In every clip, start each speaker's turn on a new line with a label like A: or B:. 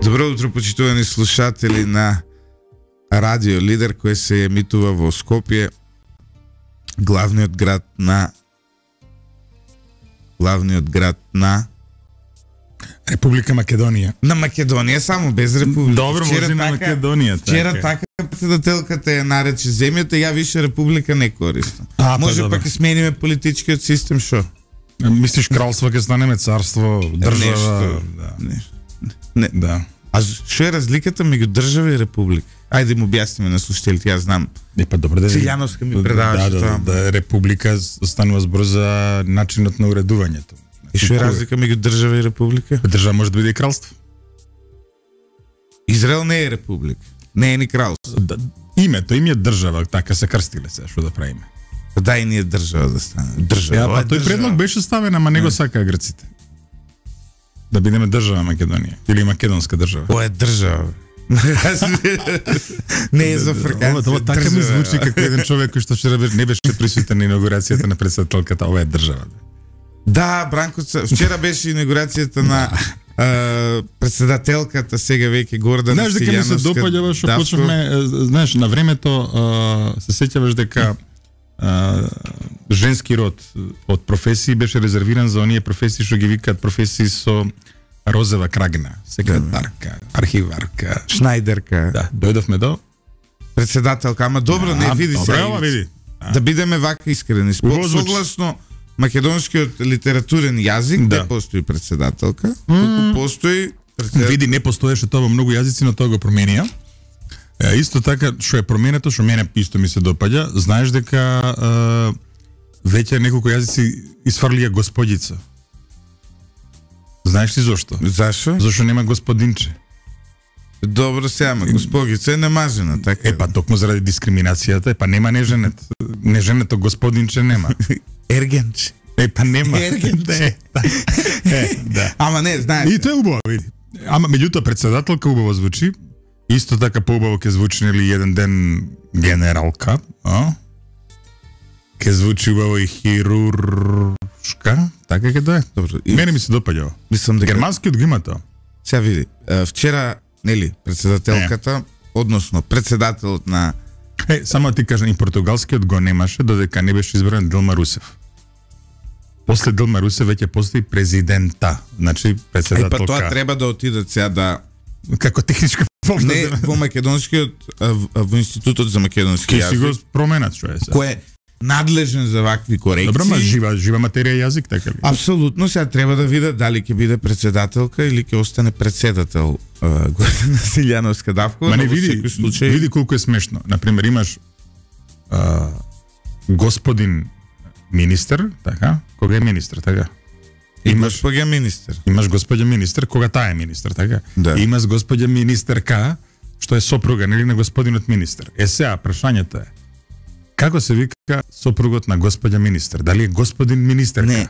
A: Добро утро, почитувани слушатели на Радио Лидер, кој се емитува во Скопје, главниот град на
B: Република Македонија.
A: На Македонија, само без Република.
B: Добро, може на Македонија.
A: Вчера така председателката ја нарече земјата, ја више Република не користам. Може пак и смениме политичкиот систем, шо?
B: Мислиш кралство ќе станеме царство, држава?
A: Не.
B: Да.
A: А што е разликата меѓу држава и република? Ајде му објасниме на слушателите, јас знам.
B: Добро да.
A: Силјановска ми предаваше тоа.
B: Да, република станува збор за начинот на уредувањето.
A: И што е разлика меѓу држава и република?
B: Држава може да биде и кралство.
A: Израел не е република, не е ни кралство.
B: Името им е држава, така се крстиле се, што да правиме.
A: Дај ние држава да стане. Држава.
B: Тој предлог беше ставен, ама не го сакаа грците. Да бидеме држава Македонија или македонска држава.
A: Ова е држава. Не е за фрканци.
B: Ова така ми звучи како еден човек кој што вчера не беше присутен на инаугурацијата на председателката. Ова е држава.
A: Да, Бранко, вчера беше инаугурацијата на председателката, сега веќе Гордана Силјановска.
B: Знаеш дека ми се допаѓа што почнавме, знаеш, на времето се сеќаваш дека женски род од професии беше резервиран за оние професии што ги викаат професии со розова крагна, секретарка, архиварка,
A: шнајдерка.
B: Да, дојдовме до
A: председателка, ама добро, не види се.
B: Види.
A: Да бидеме вака искрени. Согласно македонскиот литературен јазик, не постои председателка, туку постои
B: Види, не постоеше тоа во многу јазици, но тоа го променија. Исто така, што е променето, што мене исто ми се допаѓа, знаеш дека веќе неколку јазици изфрлија господица. Знаеш ли зошто?
A: Зашо?
B: Зашо нема господинче.
A: Добро се, ама госпогица е немажена, така.
B: Па токму заради дискриминацијата, па нема неженет. Неженето господинче нема.
A: Ергенче.
B: Па нема.
A: Ергенче.
B: Да.
A: Ама не, знаеш.
B: И тоа е убаво, види. Ама меѓутоа председателка убаво звучи. Исто така поубаво ќе звучи нели еден ден генералка, Ќе звучи убаво и хируршка, така ќе да е.
A: Добро.
B: Мене ми се допаѓа.
A: Мислам дека
B: германскиот го има тоа.
A: Сега види, вчера, нели, председателката, односно председателот на
B: само ти кажам, и португалскиот го немаше додека не беше избран Дилма Русев. После Дилма Русев веќе постои президента, значи председателка.
A: Па тоа треба да отидат сега да
B: како техничка помощ.
A: Не, во македонскиот, во институтот за македонски јазик.
B: Ке си го променат што е сега.
A: Кој е надлежен за вакви корекции.
B: Добро, ма жива материја јазик, така ли?
A: Апсолутно, сега треба да видат дали ќе биде председателка или ќе остане председател Гордана Силјановска Давкова.
B: Ма не види колку е смешно. Например, имаш господин министер, така? Кога е министер, така?
A: Имаш госпоѓа министер.
B: Имаш госпоѓа министер, кога таа е министер, така?
A: Да.
B: Имаш госпоѓа министерка, што е сопруга, нели, на господинот министер. Сега, прашањето е, како се вика сопругот на господја министер? Дали е господин министерка?
A: Не,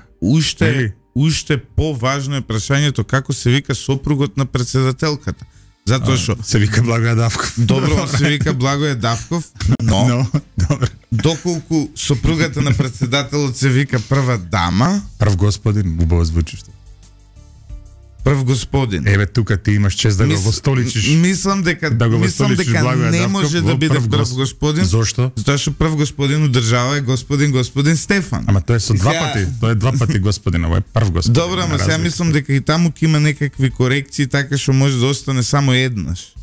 A: уште поважно е прашањето како се вика сопругот на председателката. Затоа што
B: се вика Благоја Давков.
A: Добро, се вика Благоја Давков, но
B: добро.
A: Доколку сопругата на председателот се вика прва дама,
B: прв господин, убаво звучи што.
A: Прв господин.
B: Еве тука ти имаш чест да го востоличиш.
A: Мислам дека не може да биде прв господин.
B: Зошто?
A: Затоа што прв господин у држава е господин Стефан.
B: Ама тоа е со два пати, тоа е два пати господин, ова е прв господин.
A: Добро, ама сега мислам дека и таму ќе има некакви корекции, така што може да остане само еднаш.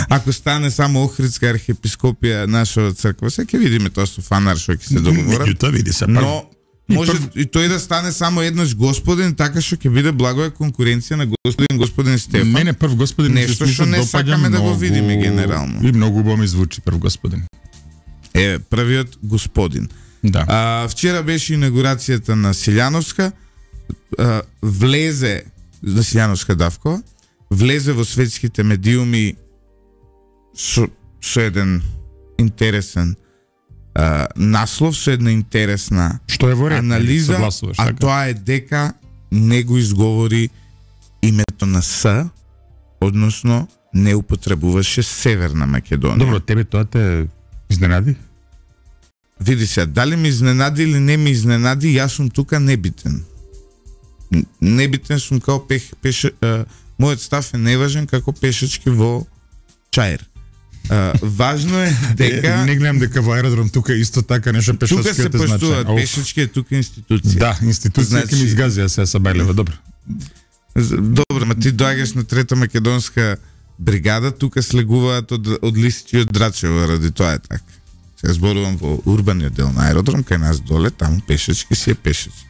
A: Ако стане само Охридска архиепископија наша црква, сега ќе видиме тоа со фанар што ќе се договорат. Но може и тој да стане само еднаш господин, така што ќе биде Благоја конкуренција на господин Стефан.
B: Мене прв господин
A: нешто што не сакаме да го видиме генерално.
B: И многу убаво ми звучи прв господин.
A: Првиот господин.
B: Да.
A: Вчера беше инаугурацијата на Силјановска, влезе на Силјановска Давкова, влезе во светските медиуми со еден интересен наслов, со една интересна анализа, а тоа е дека не го изговори името на С, односно не употребуваше Северна Македонија.
B: Добро, тебе тоа те изненади?
A: Види се, дали ми изненади или не ми изненади, јас сум тука небитен. небитен сум као мојот став е неважен како пешачки во Чаир. Важно е дека
B: не гледам дека во аеродром тука исто така нешто пешачки
A: се поштуваат пешачки, е тука институција.
B: Да, институција ќе ми изгазија се Сабајлева, добро.
A: Добро, ма ти доаѓаш на Трета македонска бригада, тука слегуваат од Лисичи и од Драчево, ради тоа е така. Сега зборувам во урбаниот дел на аеродром, кај нас доле, таму пешачки си е пешачки.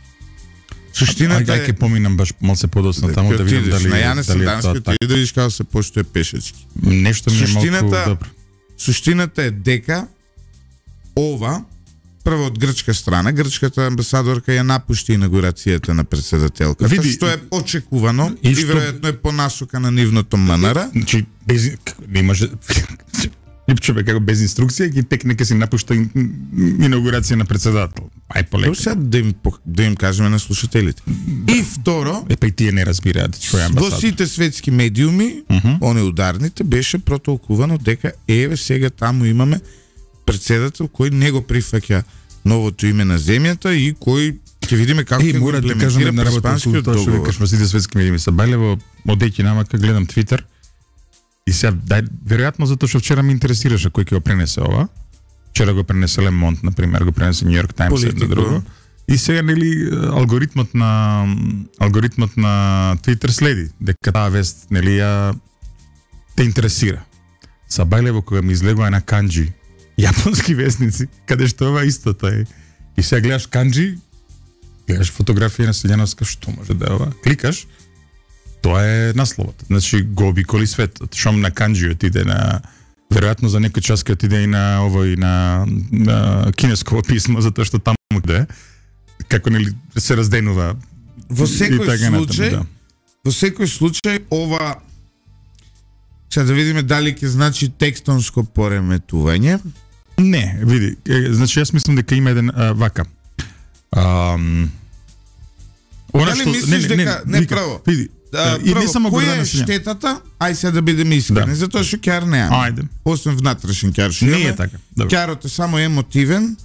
A: Суштината
B: е... Ај ќе поминам баш малце подоцна таму да видам дали
A: на Јане Сандански, ти да видиш како се поштуе пешачки.
B: Нешто ми е малку добро.
A: Суштината е дека ова прво од грчка страна, грчката амбасадорка ја напушти инаугурацијата на претседателката, што е очекувано и веројатно е по насока на нивното МНР.
B: Значи без не може Липчове како без инструкција ќе тек нека си напушта инаугурација на претседател. Ај полека.
A: Сега да им кажеме на слушателите. И второ,
B: па и тие не разбираат што е амбасадор.
A: Во сите светски медиуми, они ударните беше протолкувано дека еве сега таму имаме претседател кој не го прифаќа новото име на земјата и кој ќе видиме како ќе го имплементира преспанскиот договор.
B: Тоа што сите светски медиуми Сабајлево одејќи намака гледам Твитер. И сега, веројатно затоа што вчера ме интересираше кој ќе го пренесе ова. Вчера го пренесе Le Monde, например, го пренесе New York Times и друго. И сега нели алгоритмот на Twitter следи дека таа вест нели ја те интересира. Сабајлево кога ми излегува на канџи јапонски вестници, каде што ова истото е. И сега гледаш канџи, гледаш фотографија на Селјановска, што може да е ова? Кликаш, тоа е насловот. Значи го обиколи светот. Шом на канџи отиде на веројатно за некој час ќе отиде и на овој на кинеско писмо, затоа што таму де како нели се разденува.
A: Во секој случај ова сега да видиме дали ќе значи текстонско пореметување.
B: Не, види, значи јас мислам дека има еден вака.
A: Дали мислиш дека не право?
B: Види,
A: и не само која е штетата? Ај сега да бидеме искрени, затоа што ќар неа.
B: Ајде.
A: Освен внатрешен ќар што
B: не е така.
A: Ќарот е само емотивен,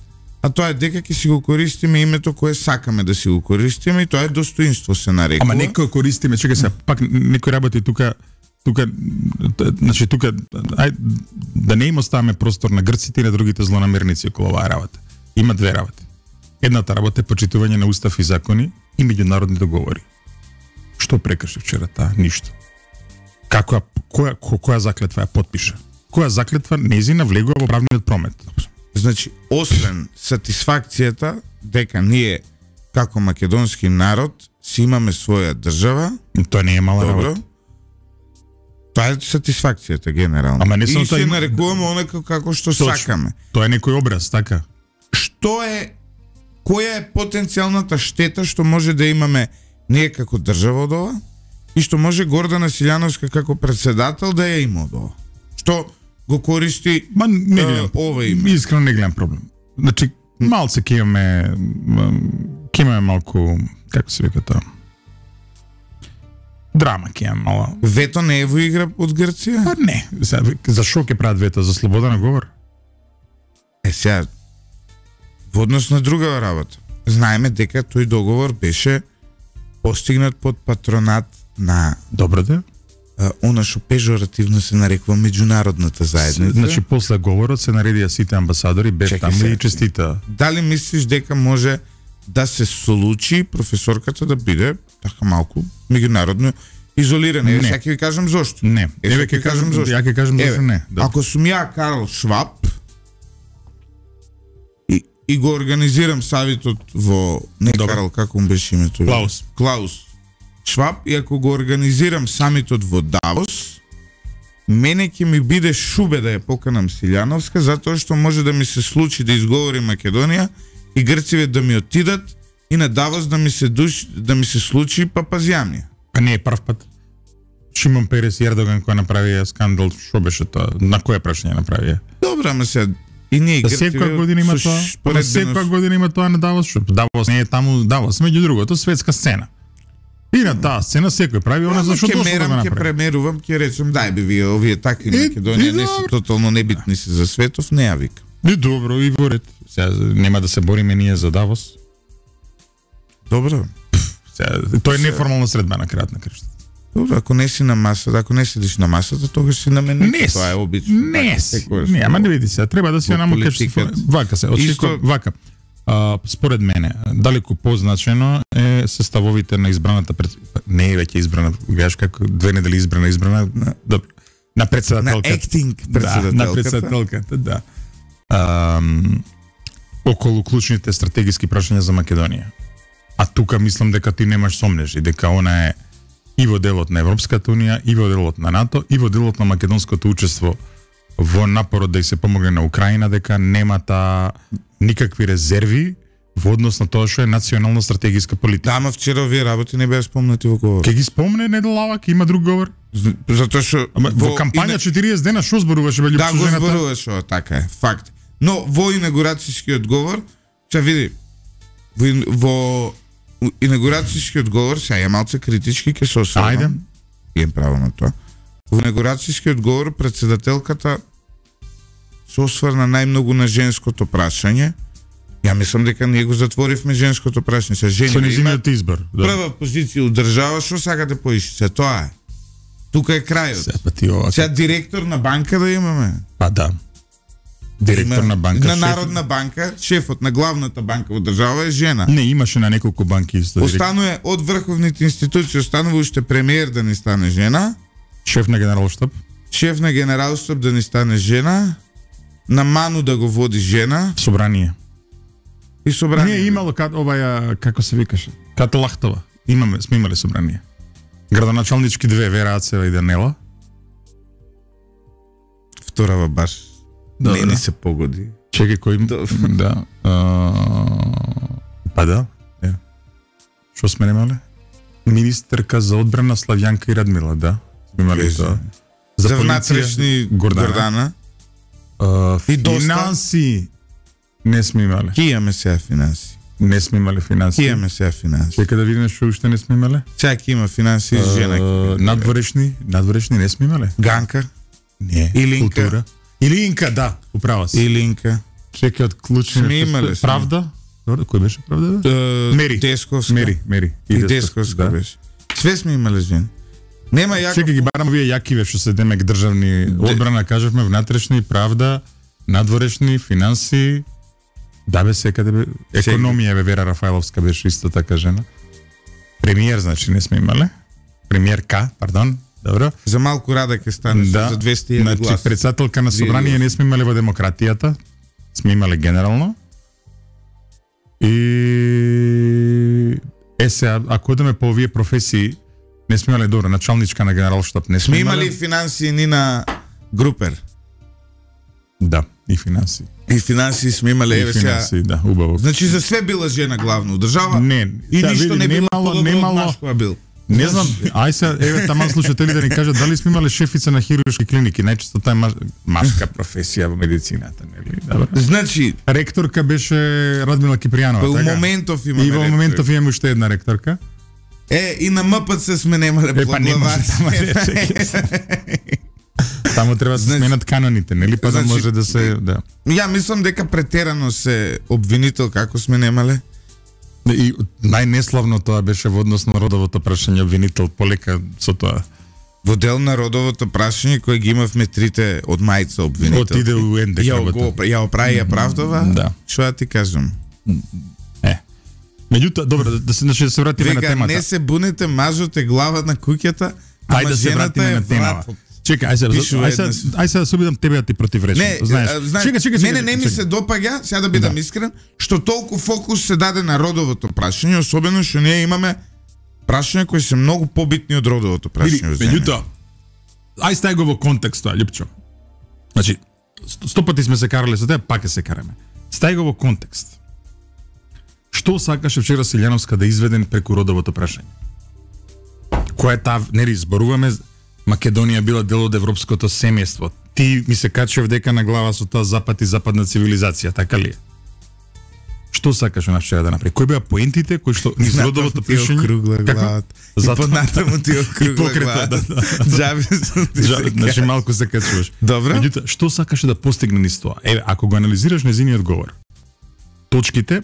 A: а тоа е дека ќе си го користиме името кое сакаме да си го користиме и тоа е достоинство се нарекува.
B: Ама некој користиме, чекај се, пак некој работи тука, значи тука ај да не им оставаме простор на грците и на другите злонамерници околу оваа работа. Има две работи. Едната работа е почитување на устав и закони и меѓународни договори. Што прекрши вчера таа? Ништо. Која заклетва ја потпиша? Која заклетва незина влегува во правниот промет?
A: Значи, освен сатисфакцијата дека ние како македонски народ си имаме своја држава,
B: тоа не е мала работа.
A: Тоа е сатисфакцијата генерално.
B: Ама не само
A: и се нарекуваме онака како што сакаме.
B: Тоа е некој образ, така?
A: Која е потенцијалната штета што може да имаме ние како држава од ова и што може Гордана Селјановска како председател да ја има од ова? Што го користи ова име?
B: Искрено не гледам проблем. Значи, малце ќе имаме малку, како се вика тоа? Драма ќе имаме мала.
A: Вето не е во игра од Грција?
B: Па не. За шо ќе прават вето? За слобода на говор?
A: Сега, во однос на друга работа. Знаеме дека тој договор беше постигнат под патронат на
B: добро да
A: она што пежоративно се нарекува меѓународната заедница.
B: Значи после говорот се наредија сите амбасадори бев таму и честита.
A: Дали мислиш дека може да се случи професорката да биде така малку меѓународно изолирана? Еве сега ќе ви кажам зошто.
B: Не. Еве ќе кажам зошто. Ја ќе кажам зошто не.
A: Ако сум ја Карл Шваб и го организирам савитот во Карл, како му беше името? Клаус Шваб, и ако го организирам самитот во Давос, мене ќе ми биде шубе да ја поканам Селјановска, затоа што може да ми се случи да изговори Македонија и Грциве да ми отидат и на Давос да ми се случи папазјамија.
B: Па не е прв пат. Шимон Перес и Ердоган кој направија скандал, што беше тоа? На која прашање направија?
A: Добро, ама сега и ние Грциве
B: секоја година има тоа. Секоја година има тоа на Давос, што Давос не е таму Давос, меѓу другото светска сцена. И на таа сцена секој прави она за што тоа да направи.
A: Ќе премерувам, ќе речем дај би вие овие такви Македонија не се тотално небитни се за светов, не ја вика.
B: И добро, и во ред. Сега нема да се бориме ние за Давос.
A: Добро.
B: Тоа е неформална средба на крајот на крштата.
A: Добро, ако не си на масата, ако не седиш на масата, тогаш си на мене. Тоа е обично.
B: Не, ама не види се, треба да си на вака се, вака. Според мене, далеку позначено е составовите на избраната не е веќе избрана, гледаш како 2 недели избрана, добро. На председателката.
A: Acting председателката.
B: На председателката, да. Околу клучните стратегиски прашања за Македонија. А тука мислам дека ти немаш сомнеш и дека она е и во делот на Европската унија, и во делот на НАТО, и во делот на македонското учество во напорот да и се помогне на Украина, дека немата никакви резерви во однос на тоа што е национална стратегиска политика.
A: Да, ама вчера овие работи не беа спомнати во говор.
B: Ке ги спомне Недолавак, има друг говор.
A: Затоа што
B: во кампања 40 дена што зборуваше бе
A: Да, го зборуваше, така е, факт. Но во инаугурацијскиот говор, ќе види, во инаугурацијскиот говор, сега е малце критички, ќе се осврнам.
B: Ајде.
A: Имам право на тоа. Во инаугурацијскиот говор председателката се осврна најмногу на женското прашање. Ја мислам дека ние го затворивме женското прашање. Се жени
B: со низиниот избор.
A: Да. Прва позиција одржава, што сакате поише? Се тоа е. Тука е крајот. Сега директор на банка да имаме.
B: Па да. Директор на банка.
A: На Народна банка, шефот на главната банка во држава е жена.
B: Не, имаше на неколку банки исто.
A: Останува од врховните институции, останува уште премиер да не стане жена.
B: Шеф на генералштаб.
A: Шеф на генералштаб да не стане жена. На Ману да го води жена.
B: Собрание.
A: И собрание.
B: Не, имало оваја, како се викаше? Ката Лахтова. Сме имали собрание. Градоначалнички 2, Вера Ацева и Данела.
A: Вторава баш. Не ни се погоди.
B: Чекај кој... Да. Па да. Што сме немале? Министерка за одбрана Славјанка и Радмила, да. Сме имали тоа.
A: За внатрешни Гордана.
B: Финанси не сме имале.
A: Ки имаме сега финанси?
B: Не сме имале финанси.
A: Ки имаме сега финанси?
B: Чека да видиме што уште не сме имале.
A: Сега ки има финанси жена.
B: Надворешни не сме имале.
A: Ганка?
B: Не.
A: Илинка?
B: Култура. Илинка, да, управа си.
A: Илинка.
B: Чекај од клучните.
A: Сме имале.
B: Правда? Кој беше Правда? Мери.
A: Десковска.
B: Мери.
A: И Десковска беше. Све сме имале жени. Нема јако.
B: Чекај ги барам вие јакиве што се демек државни одбрана, кажавме, внатрешни, правда, надворешни, финанси. Да бе секаде бе. Економија бе, Вера Рафаеловска беше исто така жена. Премиер, значи не сме имале. Премиерка, пардон. Добро.
A: За малку рада ќе стане за 200 глас.
B: Значи председателка на собрание не сме имале во демократијата. Сме имале генерално. И сега, ако одеме по овие професии, не сме имале добро, началничка на генералштаб не сме имале.
A: Имали финанси ни на Групер.
B: Да, и финанси.
A: И финанси сме имале, еве сега.
B: Финанси, да, убаво.
A: Значи за све била жена главно држава.
B: Не,
A: и ништо не било немало. Бил.
B: Не знам, ај се, еве таман слушатели да ни кажат дали сме имале шефица на хируршки клиники, најчесто таа е машка професија во медицината, нели? Добро.
A: Значи,
B: ректорка беше Радмила Кипријанова,
A: така. Во моментов имаме.
B: И во моментов имаме уште една ректорка.
A: И на МПЦ сме немале
B: поглавар. Тамо треба да се сменат каноните, нели? Па да може да се, да.
A: Ја мислам дека претерано се обвинител како сме немале.
B: И најнеславно тоа беше во однос на родовото прашање, обвинител полека со тоа.
A: Во дел на родовото прашање кој ги имавме трите од мајца обвинител.
B: Отиде у НДК.
A: Ја оправи ја правдова.
B: Да.
A: Што ја ти кажам?
B: Меѓутоа, добро, да се вратиме на темата.
A: Не се бунете, мажот е глава на куќата,
B: ама да се вратиме на темата. Чекај, ај се да се обидам тебе да ти противречам.
A: Мене не ми се допаѓа, сега да бидам искрен, што толку фокус се даде на родовото прашање, особено што ние имаме прашања кои се многу побитни од родовото прашање.
B: Меѓутоа, ај стај го во контекст тоа, Љупчо. Значи, 100 пати сме се карале со тебе, пак се караме. Стај го во контекст. Што сакаше вчера Силјановска да изведен преку родовото прашање? Која е таа, нели, зборуваме Македонија била дел од европското семејство. Ти ми се качев дека на глава со тоа запад и западна цивилизација, така ли е? Што сакаше вчера да направи? Кои беа поентите кои што низ родовото прашање
A: како понатаму ти округла глава. Джаби сум ти.
B: Значи малку се качуваш.
A: Добро.
B: Меѓутоа, што сакаше да постигне низ тоа? Еве, ако го анализираш незиниот говор, точките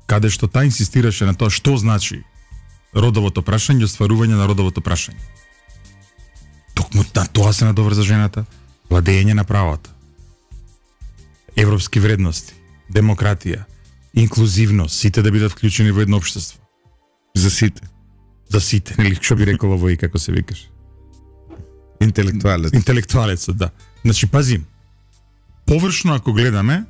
B: каде што таа инсистираше на тоа што значи родовото прашање, остварување на родовото прашање. Токму на тоа се надоврза жената, владење на правата, европски вредности, демократија, инклузивност, сите да бидат вклучени во едно општество.
A: За сите.
B: За сите, нели, што би рекол овој, како се викаш?
A: Интелектуалец.
B: Интелектуалецот, да. Значи, пази, површно ако гледаме,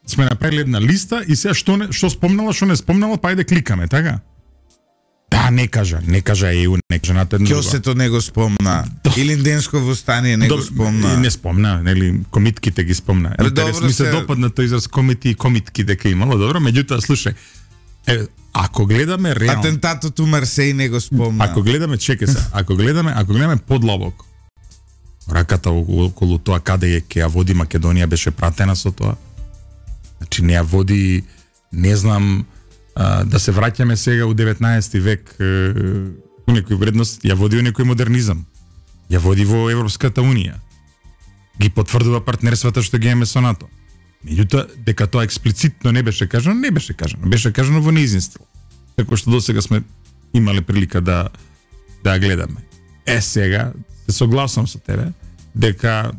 B: сме направили една листа и сега што спомнала, што не спомнала, па ајде кликаме, така? Да, не кажа ЕУ, не кажа на тедно.
A: Кјосето не го спомна. Или Инденско востание не го спомна.
B: Не спомна, нели, комитките ги спомна. Ми се допадна тој израз комити и комитки дека имало, добро, меѓутоа, слушај, ако гледаме реално...
A: Атентатот у Марсеј не го спомна.
B: Ако гледаме, чекай се, ако гледаме подлабоко, раката околу тоа каде ќе ја води Македонија беше пратена со тоа. Значи не ја води, не знам, да се враќаме сега у 19 век у некој вредност, ја води у некој модернизам. Ја води во Европската Унија. Ги потврдува партнерствата што ги имаме со НАТО. Меѓутоа, дека тоа експлицитно не беше кажано, беше кажано во нејзин стил. Како што досега сме имале прилика да гледаме. Сега се согласувам со тебе дека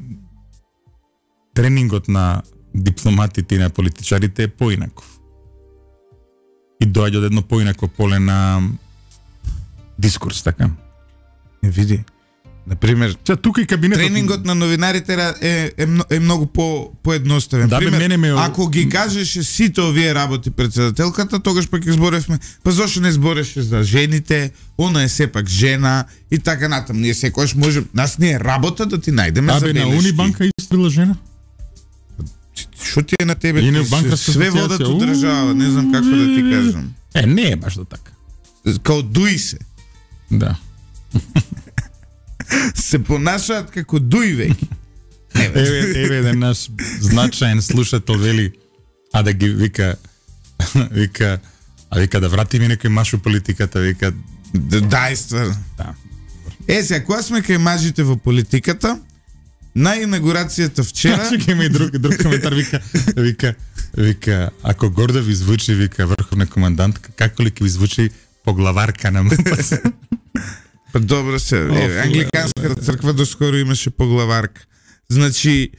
B: тренингот на дипломатите и на политичарите е поинаков. И доаѓа од едно поинако поле на дискурс, така?
A: Види. Например,
B: тука и кабинетот...
A: Тренингот на новинарите е многу поедноставен.
B: Да,
A: ако ги кажеше сите овие работи председателката, тогаш пак изборевме, па зошто не збореше за жените, она е сепак жена и така натам. Ние секојаш може, нас не е работа да ти најдеме забелешки.
B: На Унибанка исто била жена?
A: Што ти е на тебе? Све водат од држава, не знам како да ти кажам.
B: Не е баш до така.
A: Као дуи се.
B: Да.
A: Се понашаат како дуи веќе.
B: Еве еден наш значаен слушател вели, да ги вика да вратиме некој маш у политиката, вика
A: дајства.
B: Да.
A: Сега кога сме кај мажите во политиката, на инаугурацијата вчера...
B: Чекай, има и друг коментар, вика, ако гордо ви звучи, вика, врховна командантка, како ли ќе ви звучи поглаварка на МПС?
A: Па добро се, англиканската црква доскоро имаше поглаварка. Значи,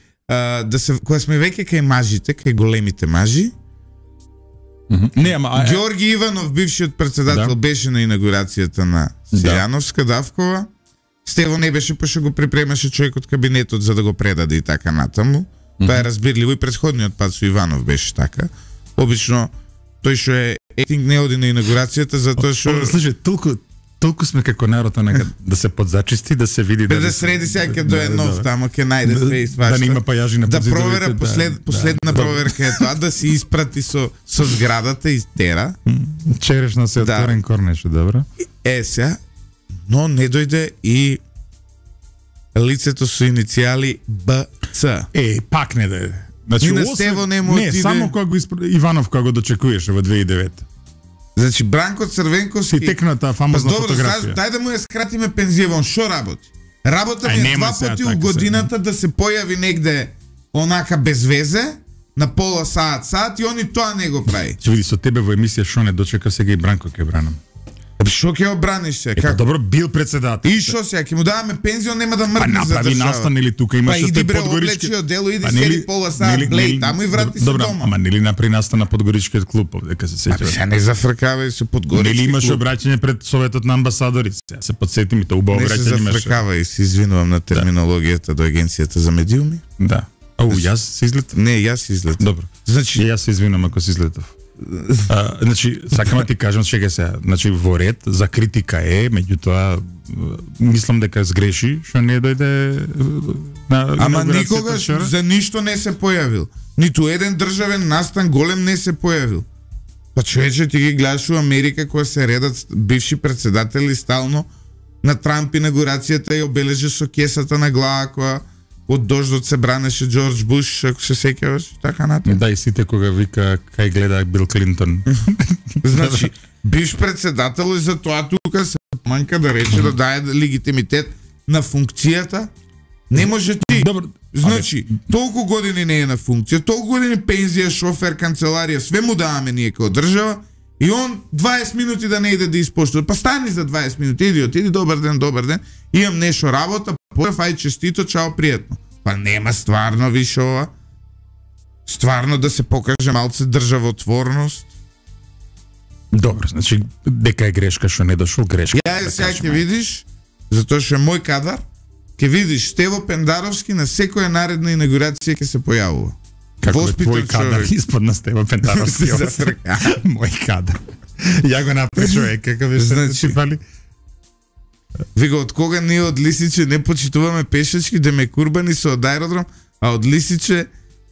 A: кога сме веќе кај мажите, кај големите мажи, Георги Иванов, бившиот председател, беше на инаугурацијата на Сијановска, Давкова. Стево не беше, па што го припремаше човек од кабинетот за да го предаде и така натаму. Тоа е разбирливо и предходниот пат со Иванов беше така. Обично тој што е етинг не оди на инаугурацијата затоа што...
B: Слушай, толку сме како народ да се подзачисти, да се види...
A: Да среди сега ќе дое нов тамо, ќе најде све и свашта.
B: Да нема пајажи на
A: Да
B: подзидовите.
A: провера последна проверка е тоа, да се испрати со зградата и тера.
B: Черешна се отворен корнеше, добро.
A: Сега, но не дојде и лицето со иницијали БЦ.
B: Пак не дојде. Значи,
A: на Стево не му отиде.
B: Не, само кога Иванов кога го дочекуваше во 2009.
A: Значи Бранко Црвенковски
B: и текна таа фамозна фотографија.
A: Дај да му ја скратиме пензијавон, што работи? Работа ми е два пати у годината да се појави негде онака без везе, на пола саат и они тоа не го прави.
B: Ќе види со тебе во емисија што не дочека, сега и Бранко ќе бранам.
A: Што ќе обраниш се? Како?
B: Добро, бил председател.
A: И што сега, ќе му даваме пензион, нема да мрдне за држава.
B: Направи настан или тука имаше
A: тој подгорички. Па иди бре, облечи одело, иди седи пола саат, блеј таму и врати се дома.
B: Добро, ама нели направи настан на Подгоричкиот клуб, дека се сеќаваш?
A: Сега не зафркавај со Подгорички.
B: Нели имаше обраќање пред Советот на амбасадори? Сега се потсетим и тоа убаво обраќање имаше.
A: Не се зафркавај, се извинувам на терминологијата до Агенцијата за медиуми.
B: Да. Јас се излетав?
A: Не, јас се излетав.
B: Добро. Значи јас се извинувам ако се излетав. Значи, сакам да ти кажам, чекај се, значи во ред за критика е, меѓутоа мислам дека сгреши што не дојде на...
A: Ама никогаш за ништо не се појавил. Ниту еден државен настан голем не се појавил. Па човече, ти ги гледаш у Америка која се редат бивши председатели стално на Трамп инаугурацијата и обележа со кесата на глава која од дождот се бранеше Џорџ Буш, ако се сеќаваш, така натаму.
B: Да, и сите кога вика кај гледа Бил Клинтон.
A: Значи, бивш председател и за тоа тука се манка да рече да даде легитимитет на функцијата. Не може ти.
B: Добро.
A: Значи, толку години не е на функција, толку години пензија, шофер, канцеларија, све му даваме ние како држава И он 20 минути да не иде да испоштува. Па стани за 20 минути, иди, добар ден. Имам нешто работа, ај честито, чао, пријатно. Па нема стварно више ова. Стварно да се покаже малце државотворност.
B: Добро, значи дека е грешка што не дошол, грешка.
A: Ја сега ќе видиш, затоа што е мој кадар, ќе видиш Стево Пендаровски на секоја наредна инаугурација ќе се појавува.
B: Како е твој кадар испод на Стево Пендаровски? Мој кадар. Ја го направи човек, какав е
A: значи,
B: фали?
A: Вига, од кога ние од Лисиче не почитуваме пешачки, да ме курбани со од аеродром, а од Лисиче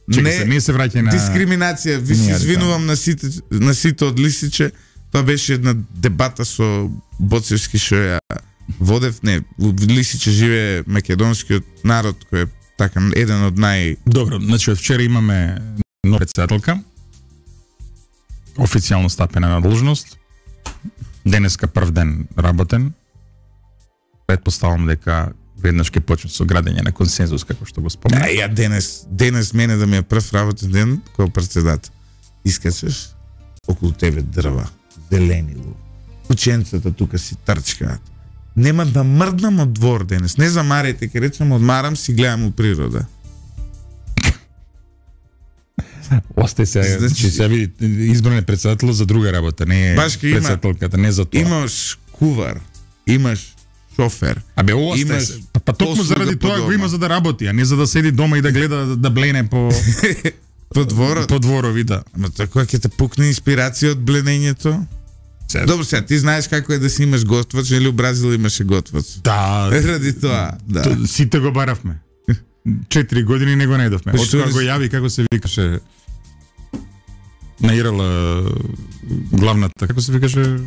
B: не се враќа на
A: дискриминација. Ви се извинувам на сите од Лисиче. Тоа беше една дебата со Боцевски што ја водев. Не, во Лисиче живее македонскиот народ кој е така еден од
B: Добро, значи од вчера имаме нова председателка. Официјално стапена на должност. Денеска прв ден работен. Предпоставам дека веднаш ќе почне со градење на консензус, како што го спомена.
A: Ја денес мене да ми е прв работен ден кој председател. Искачеш околу тебе дрва, зелени луѓе. Кученцата тука си трчкаат. Нема да мрднам од двор денес. Не замарајте, ке речем одмарам, си гледам у природа.
B: Осте се, значи се види избран е председател за друга работа, не е председателката, не за тоа.
A: Имаш кувар, имаш шофер.
B: Абе, имаш па токму заради тоа го има за да работи, а не за да седи дома и да гледа да блене по
A: по дворот.
B: По дворови, да.
A: Ама така ќе те пукне инспирација од бленењето. Добро, сега ти знаеш како е да си имаш готвач, или у Бразил имаше готвач.
B: Да.
A: Ради тоа, да.
B: Сите го баравме. 4 години не го најдовме. Од кога го јави, како се викаше, наирала главната, како се викаше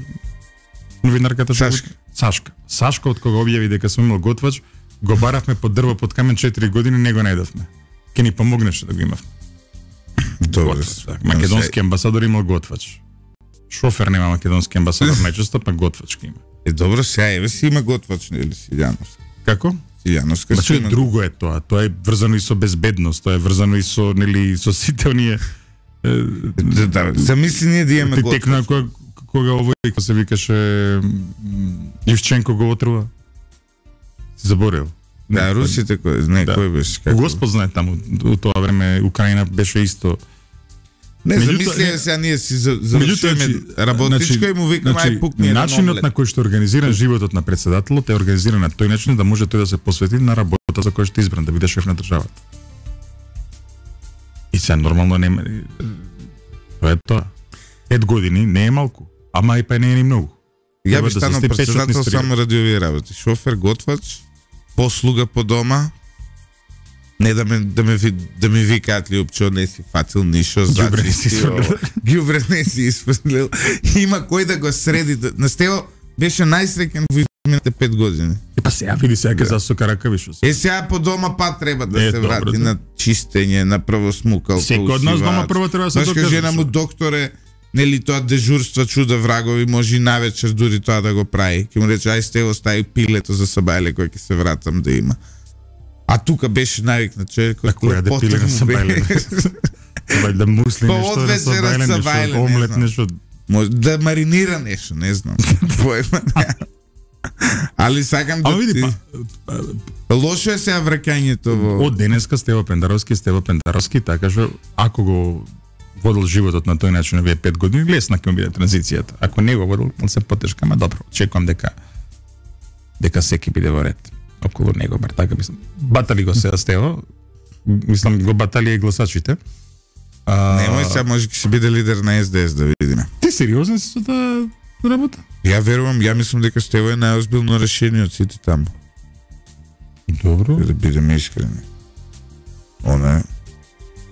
B: новинарката? Сашка, од кога објави дека сум имал готвач, го баравме под дрво под камен 4 години, не го најдовме. Ке ни помогнеше да го имавме.
A: Добре.
B: Македонски амбасадор имал готвач. Шофер нема македонски амбасадор најчесто, па готвач ке има.
A: Добро, сега еве си има готвач, нели Силјановска.
B: Како?
A: Силјановска.
B: Значи друго е тоа. Тоа е врзано и со безбедност, тоа е врзано и со нели со сите оние
A: замисли ние да имаме готвач.
B: Текна кога овој како се викаше Ивченко го отрува. Заборел.
A: Да, русите кој беше како.
B: Господ знае таму у тоа време Украина беше исто.
A: Не, замислија сега ние си завршуваме работничко и му викаме ај пукни.
B: Начинот на кој што организиран животот на председателот е организиран на тој начин да може тој да се посвети на работата за која што е избран, да биде шеф на државата. И сега нормално нема. Тоа е тоа. 5 години не е малку, ама и па не е ни многу.
A: Ја би станал председател само ради овие работи. Шофер, готвач, послуга по дома. Не да ми викаат ли опчо не си фатил нишо, ѓубре не си испрлил. Има кој да го среди. На Стево беше најсреќен во изминалите 5 години.
B: Па сега види сега ќе засока ракавишо.
A: Сега по дома па треба да се врати на чистење, на првосмукал.
B: Секој од нас дома прво треба да се
A: докаже. Жена му докторе, нели тоа дежурства чуда врагови, може и навечер дури тоа да го прави. Ќе му рече ај Стево стави пилето за сабајле кој ќе се вратам да има. А тука беше навикнат човек кој
B: која да пиле на сабајле. Да мусли нешто на сабајле, омлет нешто.
A: Може да маринира нешто, не знам. Али сакам да
B: види
A: лошо е сега враќањето во.
B: Од денеска Стево Пендаровски, така што ако го водел животот на тој начин овие 5 години, лесна ќе му биде транзицијата. Ако не го водел, он се потешка, ама добро. Очекувам дека секи биде во ред околу него, бар така мислам. Батали го се Стево. Мислам го батали и гласачите.
A: Немој сега, може ќе се биде лидер на СДС, да видиме.
B: Ти сериозен си со таа работа?
A: Ја верувам, ја мислам дека Стево е најозбилно решение од сите таму.
B: Добро.
A: Да бидеме искрени. Она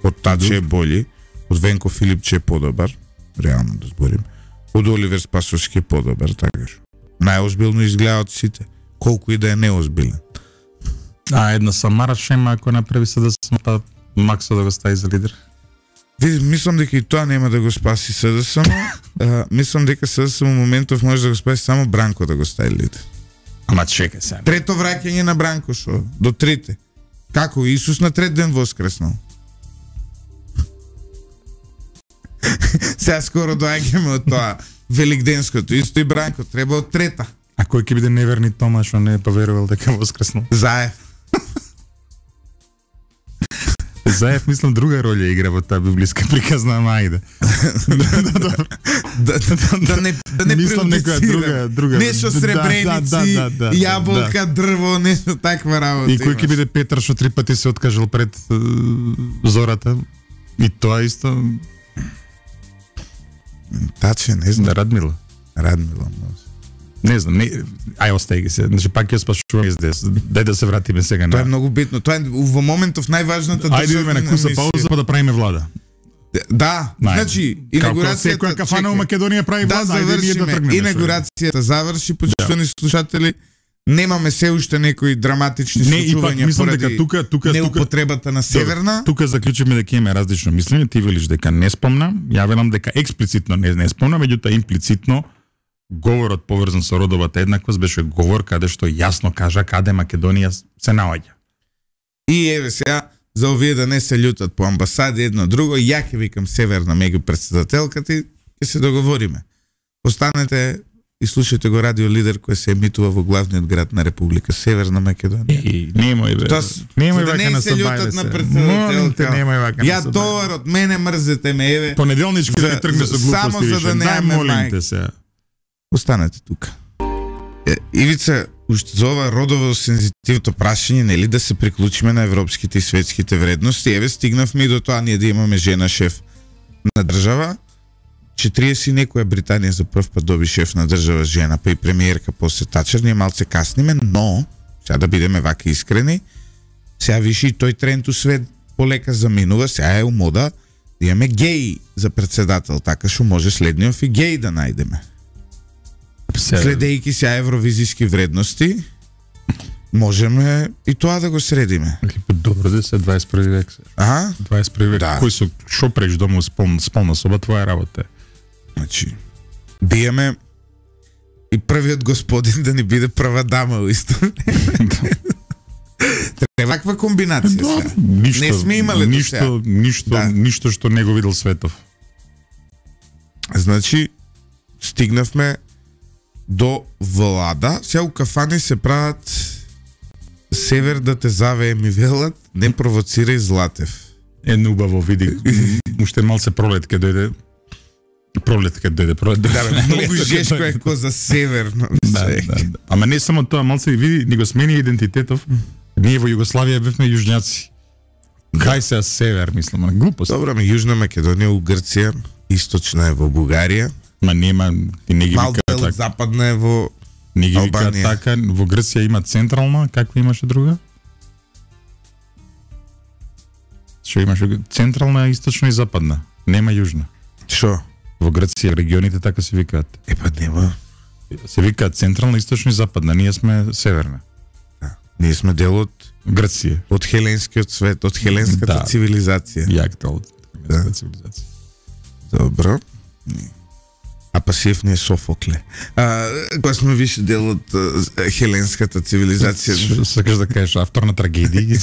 A: од Таче е бољи, од Венко Филипче е подобар, реално да зборим. Од Оливер Спасовски е подобар, така што. Најозбилно изгледа од сите, колку и да е неозбилен.
B: Една Самара Шема ако направи се да се Максо да го стави за лидер.
A: Види, мислам дека и тоа нема да го спаси СДСМ. Мислам дека СДСМ во моментов може да го спаси само Бранко да го стави лидер.
B: Ама чекај сега.
A: Трето враќање на Бранко шо? До трите. Како Исус на трет ден воскреснал? Сега скоро доаѓаме од тоа. великденското, исто и Бранко, треба од трета.
B: А кој ќе биде неверни Тома што не поверувал дека воскреснал?
A: Заев.
B: Заев, мислам, друга роља игра во таа библиска приказна, ама ајде.
A: Да не
B: друга.
A: Нешто сребреници, јаболка, дрво, нешто таква работа.
B: И кој ќе биде Петар што 3 пати се откажал пред зората? И тоа исто.
A: Таче, не знам.
B: Радмила,
A: може.
B: Не знам, ај остај ги се. Значи пак ја спашувам СДС. Дај да се вратиме сега на.
A: Тоа е многу битно. Тоа е во моментов најважната државна.
B: Ајде на куса пауза па да правиме влада.
A: Да, значи инаугурацијата
B: која кафана во Македонија прави влада,
A: ајде ние да тргнеме. Инаугурацијата заврши, почитувани слушатели. Немаме се уште некои драматични случувања поради неупотребата на Северна.
B: Тука заклучиме дека имаме различно мислење. Ти велиш дека не спомна, ја велам дека експлицитно не спомна, меѓутоа имплицитно говорот поврзан со родовата еднаквост беше говор каде што јасно кажа каде Македонија се наоѓа.
A: И еве сега за овие да не се љутат по амбасади едно друго, ја ќе викам Северна меѓу претседателката и ќе се договориме. Останете и слушајте го Радио Лидер кој се емитува во главниот град на Република Северна Македонија.
B: Немој бе. Немој вака на
A: се љутат на претседателка.
B: Немој вака на
A: ја товарот мене мрзете ме еве.
B: Понеделнички ќе тргне со глупости.
A: Само за да немаме мајка.
B: Се.
A: Останете тука. Ивица, уште за ова родово сензитивното прашање, нели да се приклучиме на европските и светските вредности. Еве стигнавме и до тоа ние да имаме жена шеф на држава. 40 некоја Британија за прв пат доби шеф на држава жена, па и премиерка после Тачер, ние малце касниме, но сега да бидеме вака искрени, сега виши и тој тренд у свет полека заминува, сега е у мода да имаме геј за председател, така што може следниот и геј да најдеме. Следејќи сега евровизиски вредности, можеме и тоа да го средиме.
B: Добро да се 21 век. 21 век. Да. Кој со шо преш дома сполна соба, твоја работа е.
A: Значи, да имаме и првиот господин да ни биде прва дама во исто време. Треба ваква комбинација сега. Не сме имале до сега.
B: Ништо што не го видел светов.
A: Значи, стигнавме до влада. Сега у кафани се прават Север да те завее ми велат, не провоцирај Златев.
B: Едно убаво, види, уште малце пролет ке дојде.
A: Да, многу жешко е ко за северно.
B: Да. Ама не само тоа, малце види, ни го смени идентитетов. Ние во Југославија бевме јужњаци. Кај се север, мислам, глупост.
A: Добро, ме Јужна Македонија у Грција, источна е во Бугарија.
B: Ма нема, ти не ги вика
A: така. Западна е во
B: не ги вика така, во Грција има централна, каква имаше друга? Што имаше? Централна, источна и западна. Нема јужна.
A: Што?
B: Во Грција регионите така се викаат.
A: Па нема.
B: Се викаат централна, источна и западна. Ние сме северна.
A: Да. Ние сме дел од
B: Грција.
A: Од хеленскиот свет, од хеленската цивилизација.
B: Јак дел од хеленската цивилизација.
A: Добро. А Пасиев не е Софокле. Кога сме више дел од хеленската цивилизација.
B: Сакаш да кажеш автор на трагедии?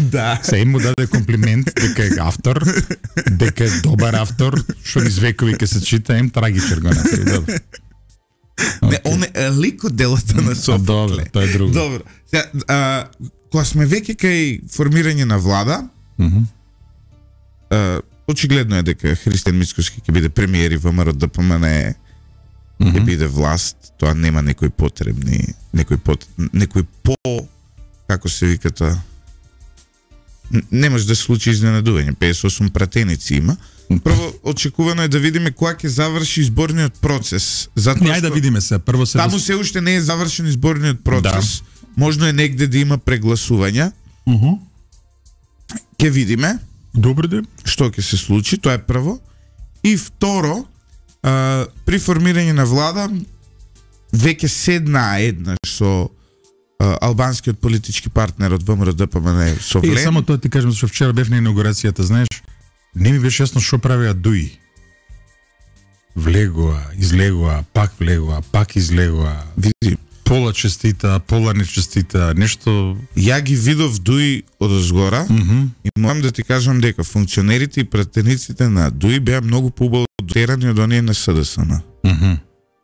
A: Да.
B: Се им му даде комплимент дека е автор, дека е добар автор, што низ векови ке се чита, им трагичар го направи. Добро.
A: Не, он е лик од делата на Софокле.
B: Добро, тоа е друго.
A: Добро. Кога сме веќе кај формирање на влада, очигледно е дека Христијан Мицкоски ќе биде премиер и ВМРО ДПМН ќе биде власт, тоа нема некои потребни, некои како се вика тоа. Не може да се случи изненадување, 58 пратеници има. Прво очекувано е да видиме кога ќе заврши изборниот процес. Затоа
B: ајде да видиме се, прво се
A: таму се уште не е завршен изборниот процес. Да. Можно е негде да има прегласувања. Ќе видиме.
B: Добре де.
A: Што ќе се случи, тоа е прво. И второ, при формирање на влада веќе седнаа еднаш со албанскиот политички партнер од ВМРО ДПМН Совлен.
B: Само тоа ти кажам, што вчера бев на инаугурацијата, знаеш, не ми беше јасно што правеа Дуи. Влегоа, излегоа, пак влегоа, пак излегоа.
A: Види,
B: пола честита, пола нечестита, нешто.
A: Ја ги видов Дуи одозгора и морам да ти кажам дека функционерите и пратениците на Дуи беа многу поубаво дотерани од оние на СДСМ.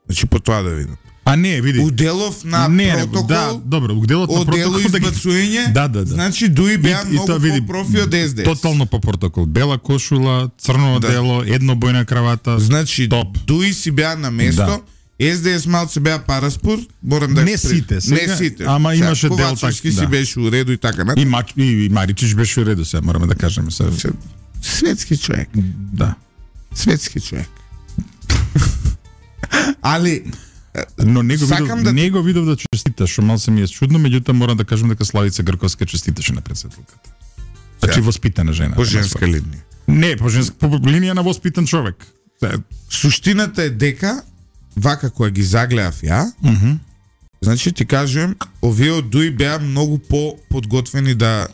A: Значи по тоа да видам.
B: А не, види.
A: Уделов на протокол.
B: Да, добро, уделот на протокол
A: избацување.
B: Да.
A: Значи дуи беа многу по-профи од СДС.
B: Тотално по протокол. Бела кошула, црно одело, еднобојна кравата.
A: Значи дуи си беа на место. СДС малце беа параспор, морам да
B: не сите,
A: не сите.
B: Ама имаше дел
A: така. Си беше уреду и така на.
B: И Маричич беше уреду, сега мораме да кажеме се.
A: Светски човек.
B: Да.
A: Светски човек. Али
B: но него видов да честита, што мал се ми е чудно, меѓутоа морам да кажам дека Славица Грковска честиташе на претседателката. Значи воспитана жена.
A: По женска линија.
B: Не, по линија на воспитан човек.
A: Суштината е дека вака која ги загледав ја, значи ти кажувам, овие од ДУИ беа многу по-подготвени да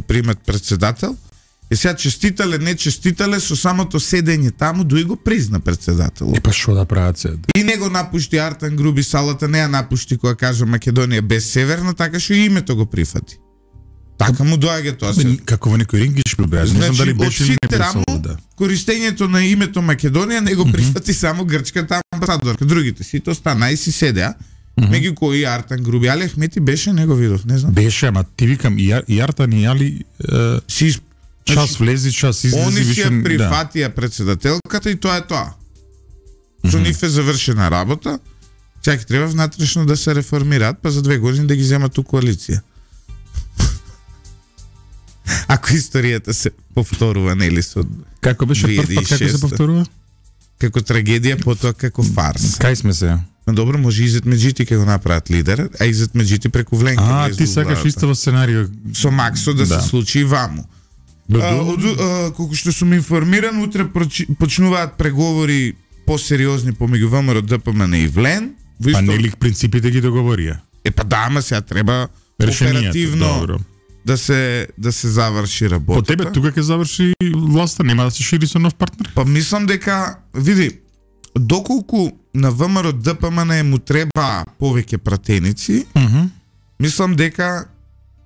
A: примат председател. И сега честитале, не честитале, со самото седење таму, ДУИ го призна председател.
B: Па што да прават се?
A: И него напушти Артан Груби салата, не ја напушти која кажа Македонија без Северна, така што и името го прифати. Така му доаѓа тоа се.
B: Како во некој рингиш прибраш, не знам дали беше или не беше.
A: Користењето на името Македонија не го прифати само грчката амбасадорка. Другите сите останаа и си седеа. Меѓу кои Артан Груби, Али Ахмети беше, него видов, не знам.
B: Беше, ама ти викам и Артан и Али час влези, час излези.
A: Они си ја прифатија председателката и тоа е тоа. Со нив е завршена работа. Сега ќе треба внатрешно да се реформираат, па за 2 години да ги земат у коалиција. Ако историјата се повторува, нели со
B: како беше прв пат, како се повторува?
A: Како трагедија, потоа како фарс.
B: Кај сме се?
A: Но добро, може Изет Меджити ќе го направат лидер, а Изет Меджити преку Вленки.
B: Ти сакаш истово сценарио
A: со Максо да се случи и ваму. Колку што сум информиран, утре почнуваат преговори посериозни помеѓу ВМРО, ДПМН и Влен.
B: Па нели принципите ги договорија?
A: Па да, ама сега треба оперативно да се заврши работата.
B: По тебе тука ќе заврши власта, нема да се шири со нов партнер?
A: Па мислам дека, види, доколку на ВМРО ДПМН му треба повеќе пратеници, мислам дека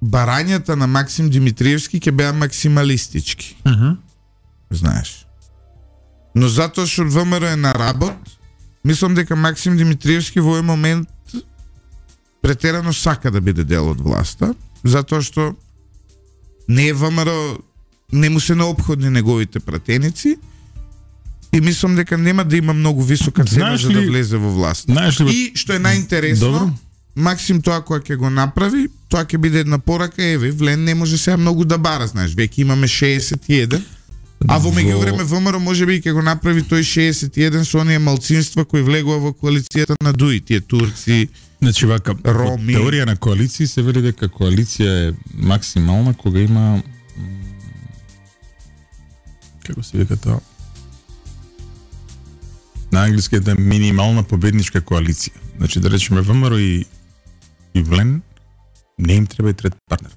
A: барањата на Максим Димитриевски ќе беа максималистички. Знаеш. Но затоа што ВМРО е на работ, мислам дека Максим Димитриевски во овој момент претерано сака да биде дел од власта, затоа што не е ВМРО, не му се необходни неговите пратеници и мислам дека нема да има многу висока цена за да влезе во власт. И што е најинтересно, Максим тоа која ќе го направи, тоа ќе биде една порака, еве, Влен не може сега многу да бара, знаеш, веќе имаме 61, а во меѓувреме ВМРО можеби ќе го направи тој 61 со оние малцинства кои влегува во коалицијата на ДУИ, тие турци,
B: значи вака,
A: роми.
B: Теорија на коалиции се вели дека коалиција е максимална кога има како се вика тоа? На англиски е минимална победничка коалиција. Значи да речеме ВМРО и Влен не им треба и трет партнер.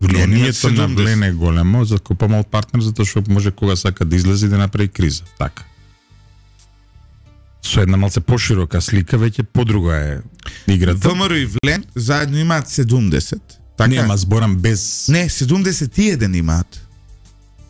B: Влијанието на Влен е големо, за помал партнер, затоа што може кога сака да излезе да направи криза. Така. Со една малце поширока слика, веќе подруга е играта.
A: ВМРО и Влен заедно имаат 70.
B: Така? Не, ама зборам без...
A: Не, 71 имаат.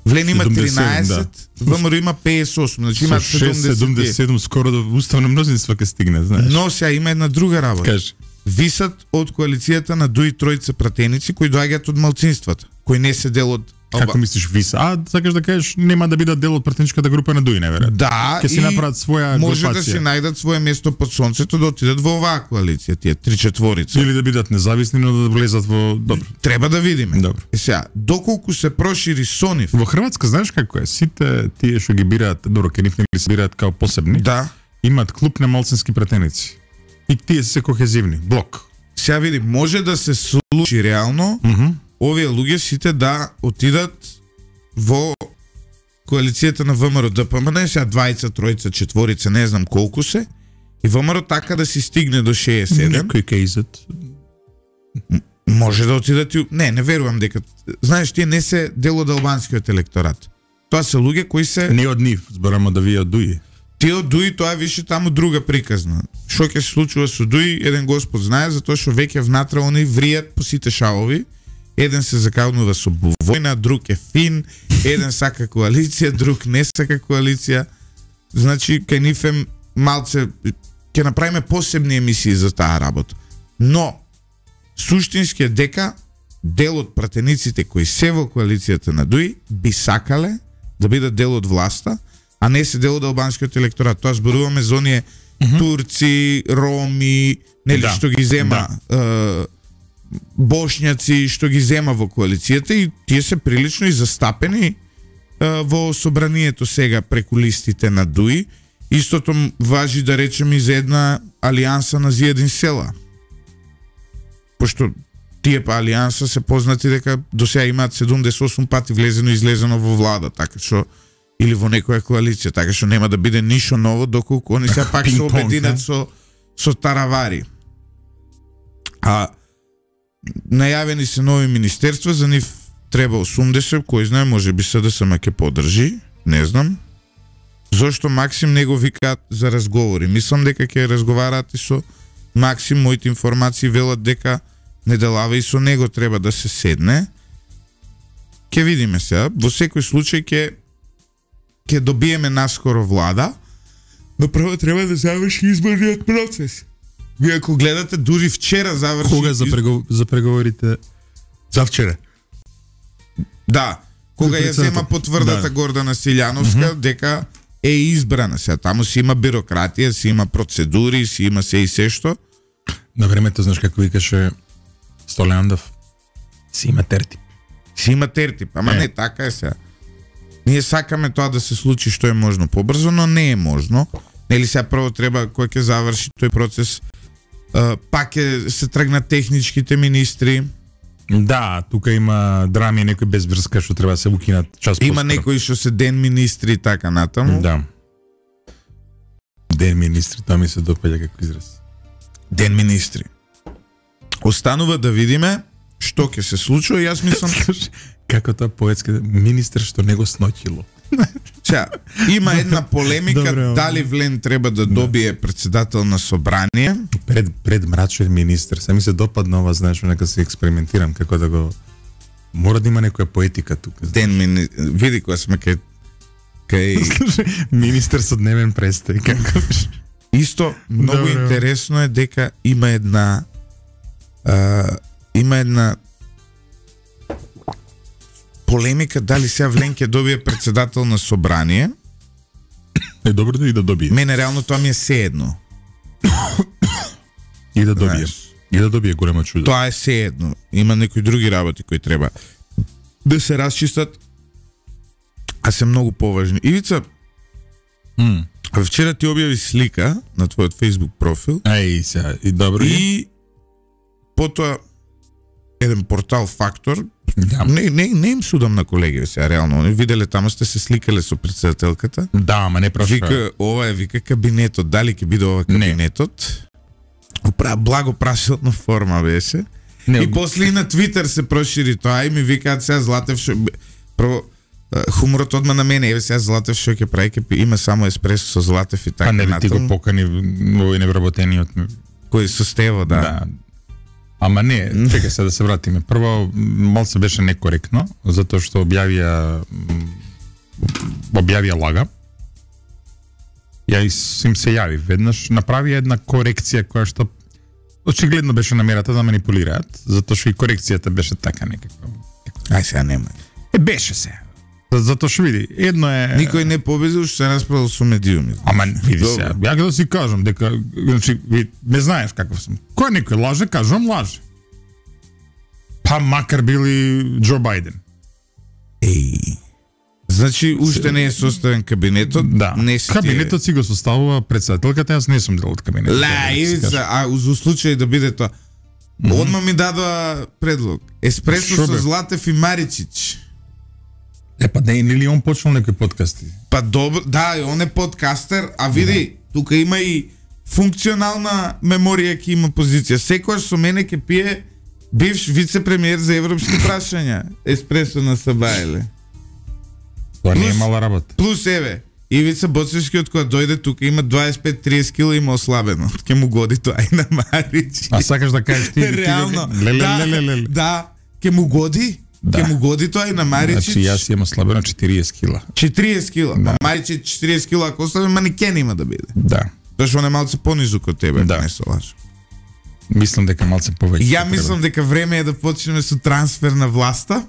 A: Влен има 13, ВМРО има 58, значи имаат
B: 77, скоро до уставно мнозинство ќе стигне, знаеш.
A: Но сега има една друга работа.
B: Кажи.
A: Висат од коалицијата на ДУИ тројца пратеници кои доаѓаат од малцинствата, кои не се дел од...
B: Како мислиш виса? Сакаш да кажеш нема да бидат дел од пратеничката група на ДУИ, неверојатно.
A: Да,
B: ќе си направат своја
A: може
B: групација.
A: Да си најдат свое место под сонцето да отидат во оваа коалиција, тие 3/4.
B: Или да бидат независни, но да влезат во... Добро.
A: Треба да видиме.
B: Добро.
A: Сега, доколку се прошири со нив...
B: Во Хрватска знаеш како е? Сите тие што ги бираат, добро, ке нив не се бираат као посебни.
A: Да.
B: Имаат клуб на малцински пратеници. И тие се кохезивни, блок.
A: Сега види, може да се случи реално овие луѓе сите да отидат во коалицијата на ВМРО ДПМН, сега 20, 3, 4, не знам колку се, и ВМРО така да си стигне до 67.
B: Некој кейзет.
A: Може да отидат и... Не верувам дека... Знаеш, тие не се дел од албанскиот електорат. Тоа се луѓе кои се...
B: Не од нив, зборамо да вие од ДУИ.
A: Тие од ДУИ, тоа више таму друга приказна. Што ќе се случува со ДУИ, еден господ знае, затоа што веќе внатре они вријат по сите шалови. Еден се заканува со војна, друг е фин, еден сака коалиција, друг не сака коалиција. Значи, кај нив е малце ќе направиме посебни емисии за таа работа. Но суштински е дека дел од пратениците кои се во коалицијата на ДУИ би сакале да бидат дел од власта, а не се дел од албанскиот електорат. Тоа зборуваме за оние турци, роми, нели што ги зема бошњаци што ги зема во коалицијата и тие се прилично и застапени во собранието сега преку листите на ДУИ. Истото важи да речем и за една алијанса на Зиедин села. Пошто тие па алијанса се познати дека до сега имаат 78 пати влезено и излезено во влада, така што или во некоја коалиција, така што нема да биде ништо ново доколку они се пак се обединат со таравари. А најавени се нови министерства, за нив треба 80, кој знае, може би СДСМ ќе поддржи, не знам. Зошто Максим не го викаат за разговори? Мислам дека ќе разговараат и со Максим, моите информации велат дека Неделава и со него треба да се седне. Ќе видиме сега. Во секој случај ќе добиеме наскоро влада, но прво треба да заврши изборниот процес. Вие ако гледате, дури вчера заврши...
B: Кога за преговорите? За вчера?
A: Да. Кога ја зема потврдата Гордана Силјановска, дека е избрана сега. Таму си има бирократија, си има процедури, си има се и се што.
B: На времето, знаеш како викаше Столеандов, си има тертип.
A: Си има тертип, ама не, така е сега. Ние сакаме тоа да се случи што е можно побрзо, но не е можно. Нели сега прво треба, кој ќе заврши тој процес, пак се тргнат техничките министри.
B: Да, тука има драми, некои без врска што треба да се укинат час поскоро.
A: Има некои што се ден министри и така натаму.
B: Да. Ден министри, тоа ми се допаѓа како израз.
A: Ден министри. Останува да видиме што ќе се случува. Јас мислам
B: како тоа поетски министер што не го сноќило.
A: Сега, има една полемика. Добре, дали Влен треба да добие председател на собрание.
B: Пред мрачен министер. Се ми се допадна ова, знаеш, нека се експериментирам како да го... Мора да има некоја поетика тука.
A: Види кога сме кај...
B: Министер со дневен престој. Како...
A: Исто, многу интересно е дека има една полемика дали сега Влен ќе добие председател на собрание.
B: Е добро да и да добие.
A: Мене реално тоа ми е сеедно.
B: И да добие. И да добие големо чудо.
A: Тоа е сеедно. Има некои други работи кои треба да се расчистат, а се многу поважни. Ивица, вчера ти објави слика на твојот Facebook профил.
B: Ај, сега, и добро.
A: И потоа еден портал Фактор. Да. Не им судам на колеги сега, реално. Виделе таму сте се сликале со председателката.
B: Да, ама не прошла.
A: Вика, ова е, вика, кабинетот. Дали ќе биде ова кабинетот? Благо прашилна форма беше. Не, и после и на Твитер се прошири тоа и ми викаат сега Златев шо... Прво, хуморот одма на мене, еве сега Златев шо ќе прави, има само еспресо со Златев и така натаму.
B: А не ти го покани во невработениот.
A: Кој со Стево, да.
B: Ама не, чекај се да се вратиме. Прво, малце беше некоректно, затоа што објавија лага. Ја им се јави веднаш, направи една корекција која што очигледно беше намерата да манипулираат, затоа што и корекцијата беше така некаква.
A: Ај сега нема.
B: Беше се. Затоа што види, едно е...
A: Никој не победил, што се расправил со медиуми.
B: Ама види се, ја да си кажам дека, значи, не знаеш каков сум. Кој некој лаже, кажам лаже. Па макар били Џо Бајден.
A: Еј. Значи, уште не е составен кабинетот.
B: Да. Кабинетот си го составува председателката, јас не сум дел од кабинетот.
A: А за случај да биде тоа. Одма ми дадоа предлог. Еспресо со Златев и Маричич.
B: Па не е ли он почнал некои подкасти?
A: Па добро, да, он е подкастер, а види, тука има и функционална меморија, ки има позиција. Секојаш со мене ке пие бивш вице-премиер за европски прашања. Еспресо на Сабајле.
B: Тоа не е мала работа.
A: Плюс еве, Ивица Боцевски од кога дојде тука има 25-30 кила, има ослабено. Ке му годи тоа и на Марич.
B: А сакаш да кажеш ти?
A: Реално. Да, ке му годи. Ке му годи тоа и на Маричич.
B: Значи јас имам ослабено 40 кила.
A: 40 кила. Да. Маричич 40 кила, ако ослабе, манекен има да биде.
B: Да.
A: Тоа што не малце понизу од тебе,
B: да.
A: Не се лажам.
B: Мислам дека малце повеќе.
A: Ја мислам дека време е да почнеме со трансфер на власта.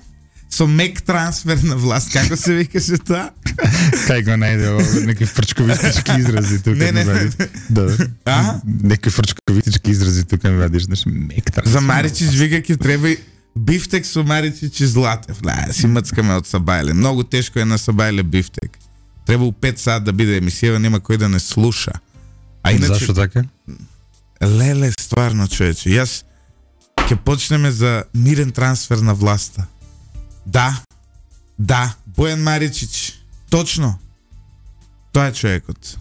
A: Со мек трансфер на власт, како се викаше тоа?
B: Кај го најде неки фрчковитички изрази тука.
A: Не.
B: Да.
A: А?
B: Неки фрчковитички изрази тука ми вадиш, знаеш, мек трансфер.
A: За Маричич вика ќе треба бифтек со Маричич и Златев. Си мцкаме од Сабајле. Многу тешко е на Сабајле бифтек. Треба у 5 сат да биде емисија, нема кој да не слуша.
B: А иначе зашто така?
A: Леле, стварно, човече. Јас ќе почнеме за мирен трансфер на власта. Да, Бојан Маричич. Точно. Тоа е човекот.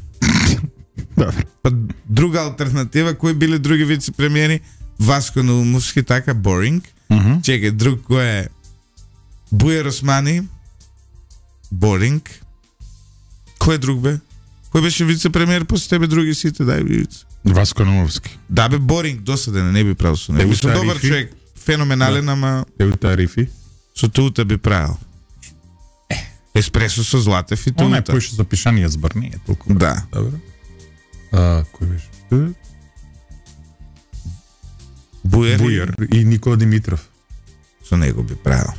A: Па друга алтернатива, кои биле други вице-премиери? Васко Наумовски, така, boring. Чекај, друг кој е? Бујар Османи. Boring. Кој е друг бе? Кој беше вице-премиер после тебе, други сите, дај вице.
B: Васко Наумовски.
A: Да бе, boring, досаден, не би правил со него. Со добар човек, феноменален, ама...
B: Еута Рифи.
A: Со тута би правил. Еспресо со Златев и тута.
B: Она е поише за пишање збор, не е толку.
A: Да.
B: Добро. Кој беше? Бујар и Никола Димитров.
A: Со него би правил.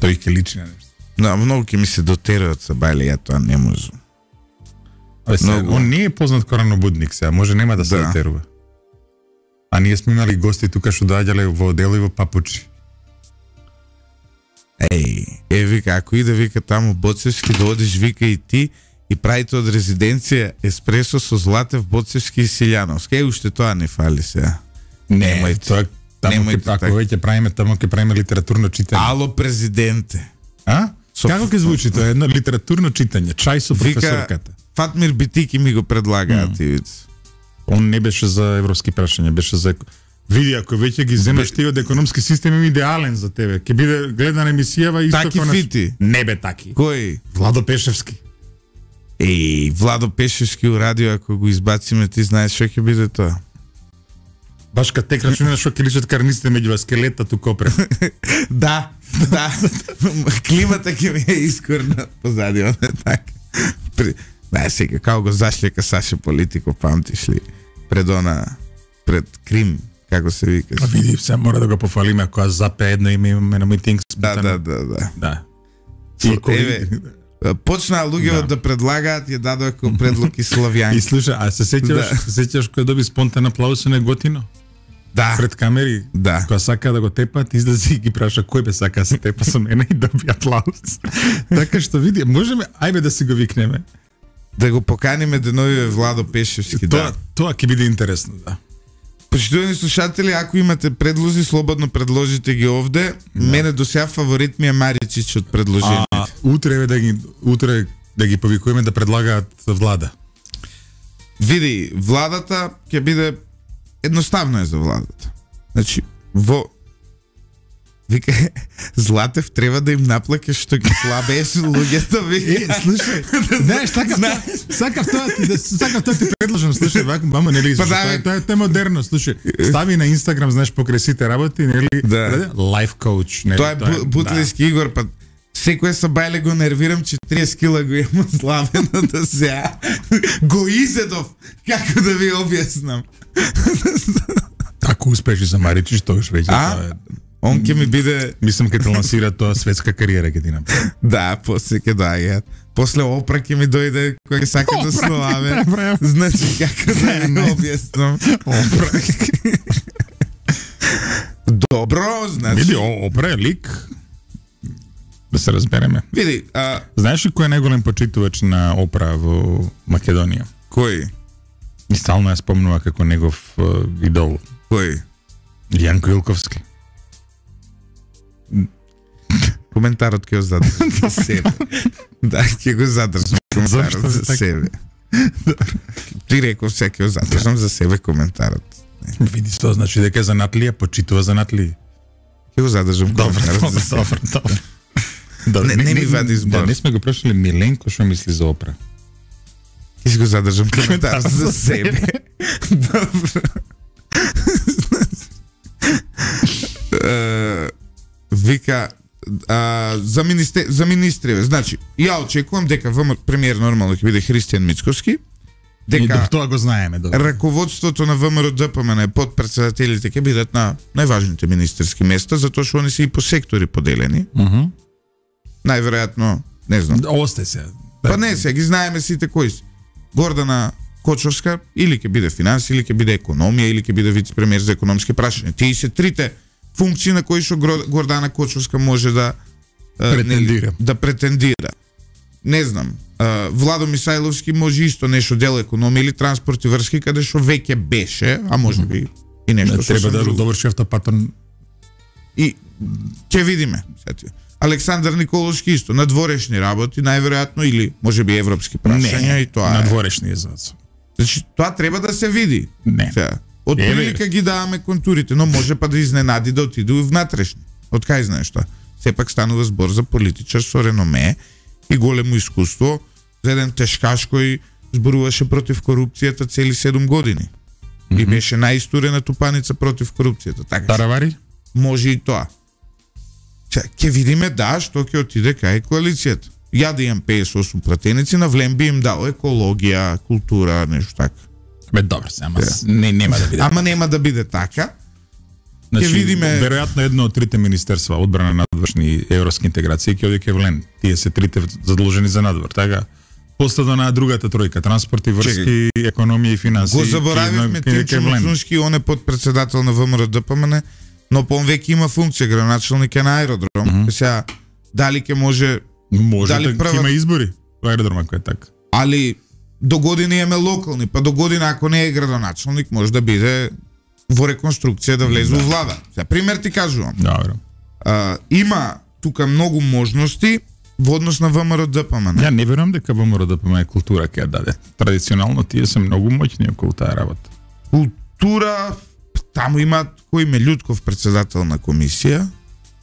B: Тој ќе личи на нешто.
A: Да, многу ќе ми се дотераат са Бајле, ја тоа не можам.
B: Он не е познат коранобудник сега, може нема да се дотерува. А ние сме имали гости тука што доаѓале во одело и во папучи.
A: Вика, ако иде, вика, таму Боцевски, да одиш, вика, и ти, и правите од резиденција еспресо со Златев, Боцевски и Силјановски. Уште тоа не фали сега.
B: Не, тоа таму ако веќе правиме, таму ќе правиме литературно читање.
A: Ало, президенте.
B: Како ќе звучи тоа? Едно литературно читање, чај со професорката.
A: Фатмир Битики ми го предлагаат, ивица.
B: Он не беше за европски прашања, беше за... Види, ако веќе ги земеш ти од економски систем, е идеален за тебе. Ќе биде гледана емисијава исто
A: таки фити.
B: Не бе таки.
A: Кој?
B: Владо Пешевски.
A: Владо Пешевски у радио, ако го избациме, ти знаеш што ќе биде тоа.
B: Баш кад те крашуна што ќе личат карниците меѓу скелета ту копре.
A: Да. Климата ќе ми е искорна позади, он е така. Сега, како го зашлека Саше Политико, памтиш ли? Пред Крим, како се вика.
B: Види, се мора да го пофалиме, ако запе едно име имаме на митинг.
A: Да. Почнаа луѓето да предлагаат, ја дадоа како предлог и Славјанки.
B: И слуша, а се сеќаваш кој доби спонтан аплауз со Неготино?
A: Да.
B: Пред камери, кога сака да го тепат, излези и ги праша кој бе сака да се тепа со мене и доби аплауз. Така што види, можеме, ајде да си го викнеме.
A: Да го поканиме денови Владо Пешевски, да.
B: Тоа ќе биде интересно, да.
A: Почитувани слушатели, ако имате предлози, слободно предложите ги овде. Мене до сега фаворит ми е Маричич од предложението.
B: Утре да ги повикуваме да предлагаат влада.
A: Види, владата ќе биде едноставно е за владата. Значи, вика, Златев треба да им наплаке што ги слабееш луѓето, вика.
B: Слушај, знаеш, сакав тоа ти предложам, слушај, мамо, нели, тоа е модерно, слушај, стави на Инстаграм, знаеш, покрај сите работи, нели, лайф коуч, нели.
A: Тоа е Бутлиски Игор, па секој Сабајле го нервирам, 40 кила го имам славено да сега. Го изедов, како да ви објаснам.
B: Ако успеш за Маричич, тоа веќе тоа е.
A: Он ќе ми биде...
B: Мислам ќе те лансира тоа светска кариера ќе ти направи.
A: Да, после ќе доаѓаат. После Опра ќе ми дојде кој ќе сака да славе. Значи како да не објаснам.
B: Опра.
A: Добро, значи.
B: Види, Опра е лик. Да се разбереме.
A: Види,
B: знаеш ли кој е најголем почитувач на Опра во Македонија?
A: Кој?
B: И стално ја спомнува како негов идол.
A: Кој?
B: Јанко Илковски.
A: Коментарот ќе го задржам за себе. Да, ќе го задржам коментарот за себе. Ти реков се ќе го задржам за себе коментарот.
B: Види што значи дека занатлија почитува занатлија.
A: Ќе го задржам коментарот за себе.
B: Добро.
A: Не ми вади збор.
B: Да, не сме го прашали Миленко што мисли за Опра.
A: Ќе го задржам коментарот за себе. Добро. Вика за министри, значи ја очекувам дека ВМ премиер нормално ќе биде Христијан Мицкоски
B: дека тоа го знаеме,
A: раководството на ВМРО-ДПМН подпредседателите ќе бидат на најважните министерски места, затоа што они се и по сектори поделени. Најверојатно, не знам.
B: Осте се.
A: Па не се, ги знаеме сите кои се. Гордана Кочовска или ќе биде финанси, или ќе биде економија, или ќе биде вице-премиер за економски прашања. Тие се трите функции на кои што Гордана Кочовска може да претендира. Не знам. Владо Мисајловски може исто нешто дел економија или транспорт и врски, каде што веќе беше, а може би и нешто што
B: треба да доврши автопатот.
A: И ќе видиме. Александар Николовски исто надворешни работи, најверојатно, или може би европски прашања, и тоа
B: надворешни е зацо.
A: Значи тоа треба да се види.
B: Не.
A: Од прилика ги даваме контурите, но може па да изненади да отиде и внатрешни. Од кај знаеш тоа? Сепак станува збор за политичар со реноме и големо искуство, за еден тешкаш кој зборуваше против корупцијата цели 7 години. И беше најистурена тупаница против корупцијата. Така.
B: Таравари?
A: Може и тоа. Ќе видиме што ќе отиде кај коалицијата. Ја да имам 58 пратеници, на Влем би им дал екологија, култура, нешто така.
B: Добро, ама нема да биде.
A: Ама нема да биде така.
B: Значи,
A: ќе видиме
B: веројатно едно од трите министерства, одбрана, надвршни и европски интеграции, ќе оди кај Влем. Тие се трите задолжени за надвор, така? Последно на другата тројка, транспорт и врски, економија и финанси.
A: Го заборавивме Тимчо Мацунски, он е подпредседател на ВМРО-ДПМН, но по веќе има функција, градоначалник е на аеродром. Сега, дали ќе може
B: дали да има избори во аеродромот кој е така.
A: Али до година имаме локални, па до година ако не е градоначалник може да биде во реконструкција да влезе во влада. За пример ти кажувам.
B: Добро.
A: Има тука многу можности во однос на ВМРО-ДПМН.
B: Ја не верувам дека ВМРО-ДПМН е култура ќе ја даде. Традиционално тие се многу моќни околу таа работа.
A: Култура, таму имаат кој Мелјутков председател на комисија.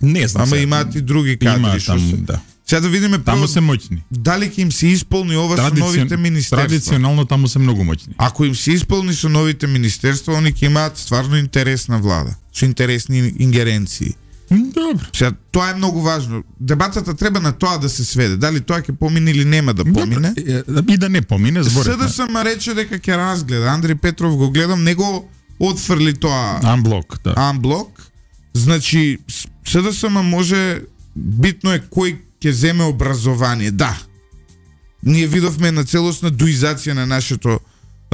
B: Не знам.
A: Ама имаат и други кадри што се.
B: Да.
A: Сега да видиме
B: таму се моќни.
A: Дали ќе им се исполни ова со новите министерства?
B: Традиционално таму се многу моќни.
A: Ако им се исполни со новите министерства, они ќе имаат стварно интересна влада, со интересни ингеренции.
B: Добро.
A: Сега тоа е многу важно. Дебатата треба на тоа да се сведе. Дали тоа ќе помине или нема да помине?
B: И да не помине, зборите.
A: СДСМ рече дека ќе разгледа. Андри Петров го гледам, него отфрли тоа.
B: Анблок, да.
A: Анблок. Значи СДСМ може, битно е кој ќе земе образование. Да. Ние видовме на целосна дуизација на нашето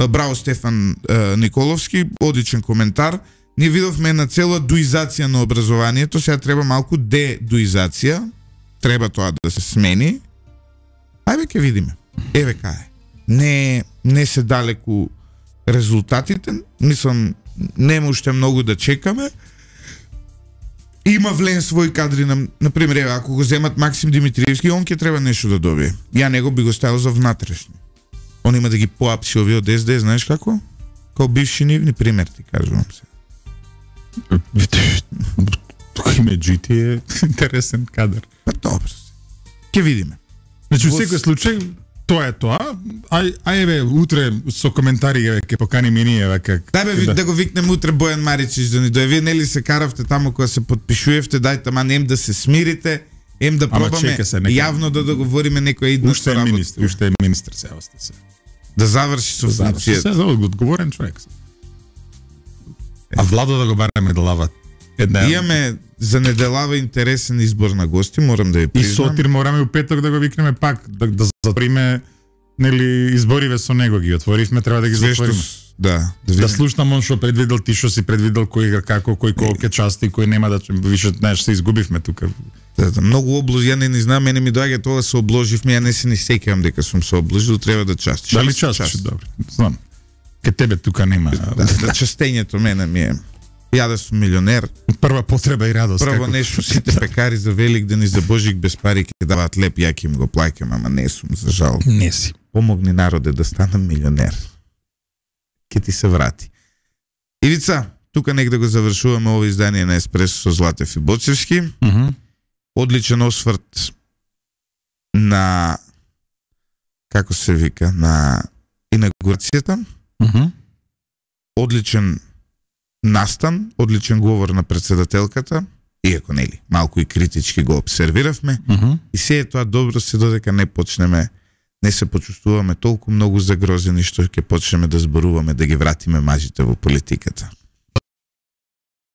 A: браво Стефан Николовски, одличен коментар. Ние видовме на цела дуизација на образованието, сега треба малку дедуизација. Треба тоа да се смени. Ајде ќе видиме. Еве кај. Не се далеку резултатите. Мислам, нема уште многу да чекаме. Има Влен своји кадри, на пример, ако го земат Максим Димитриевски, он ќе треба нешто да добие. Ја него би го ставил за внатрешни. Он има да ги поапси овие од СД, знаеш како? Као бивши нивни, пример ти кажувам се.
B: Тука име GT е интересен кадар.
A: Па добро. Ќе видиме.
B: Значи, во секој случај, тоа е тоа. Ајде утре со коментари ќе поканим и ние како.
A: Дај да го викнем утре Бојан Маричич да ни дојде. Вие нели се каравте таму кога се подпишувевте, дајте ем да се смирите, да пробаме јавно да договориме некоја идна работа.
B: Уште е министр се остасе.
A: Да заврши со функцијата.
B: Се одговорен човек. А Владо да го бараме да лава.
A: Имаме за неделава интересен избор на гости, морам да ја признам.
B: И Сотир мораме у петок да го викнеме пак, да затвориме, нели, избориве со него ги отворивме, треба да ги затвориме.
A: Да.
B: Да слушнам он што предвидел, ти што си предвидел кој како, кој ќе части, кој нема да више, знаеш, се изгубивме тука.
A: Да, многу обложи, ја не знам, мене ми доаѓа тоа се обложивме, ја не се ни сеќавам дека сум се обложил, треба да частиш.
B: Дали частиш? Добро. Знам. Ке тебе тука нема.
A: Да, частењето мене ми е. Ја да сум милионер.
B: Прва потреба и радост.
A: Прво нешто сите пекари за Великден и за Божик без пари ќе даваат леп, ја ќе им го плаќам, ама не сум, за жал.
B: Не си.
A: Помогни народе да станам милионер. Ке ти се врати. Ивица, тука нека да го завршуваме ова издание на Еспресо со Златев и Боцевски. Одличен осврт на, како се вика, на инаугурацијата. Одличен настан, одличен говор на председателката, иако нели малку и критички го обсервиравме, и се е тоа добро се додека не почнеме не се почувствуваме толку многу загрозени што ќе почнеме да зборуваме да ги вратиме мажите во политиката.